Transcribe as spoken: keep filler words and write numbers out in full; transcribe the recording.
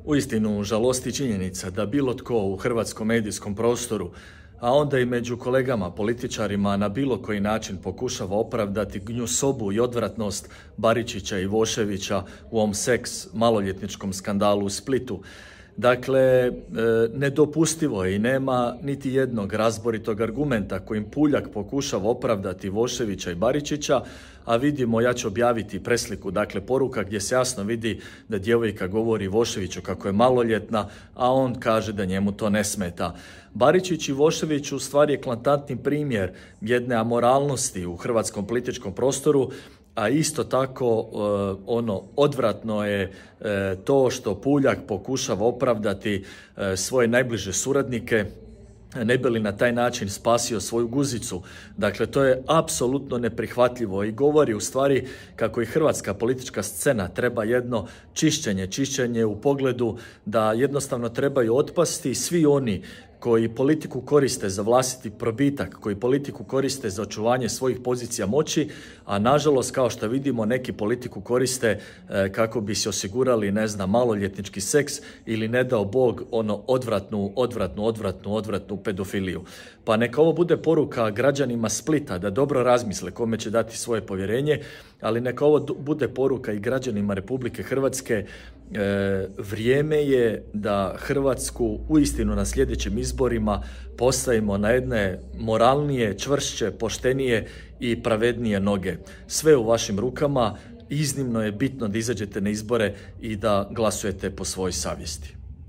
Uistinu žalosti činjenica da bilo tko u hrvatskom medijskom prostoru, a onda i među kolegama političarima na bilo koji način pokušava opravdati gnjusobu i odvratnost Baričića i Voševića u ovom seks maloljetničkom skandalu u Splitu. Dakle, nedopustivo je i nema niti jednog razboritog argumenta kojim Puljak pokušava opravdati Voševića i Baričića, a vidimo, ja ću objaviti presliku, dakle poruka gdje se jasno vidi da djevojka govori Voševiću kako je maloljetna, a on kaže da njemu to ne smeta. Baričić i Vošević u stvari je eklatantni primjer jedne amoralnosti u hrvatskom političkom prostoru, a isto tako ono odvratno je to što Puljak pokušava opravdati svoje najbliže suradnike, ne bi li na taj način spasio svoju guzicu. Dakle, to je apsolutno neprihvatljivo i govori u stvari kako i hrvatska politička scena treba jedno čišćenje, čišćenje u pogledu da jednostavno trebaju otpasti svi oni koji politiku koriste za vlastiti probitak, koji politiku koriste za očuvanje svojih pozicija moći, a nažalost, kao što vidimo, neki politiku koriste e, kako bi se osigurali, ne znam, maloljetnički seks ili ne dao Bog ono odvratnu, odvratnu, odvratnu, odvratnu pedofiliju. Pa neka ovo bude poruka građanima Splita da dobro razmisle kome će dati svoje povjerenje, ali neka ovo bude poruka i građanima Republike Hrvatske. E, vrijeme je da Hrvatsku uistinu na sljedećim izborima postavimo na jedne moralnije, čvršće, poštenije i pravednije noge. Sve u vašim rukama, iznimno je bitno da izađete na izbore i da glasujete po svojoj savjesti.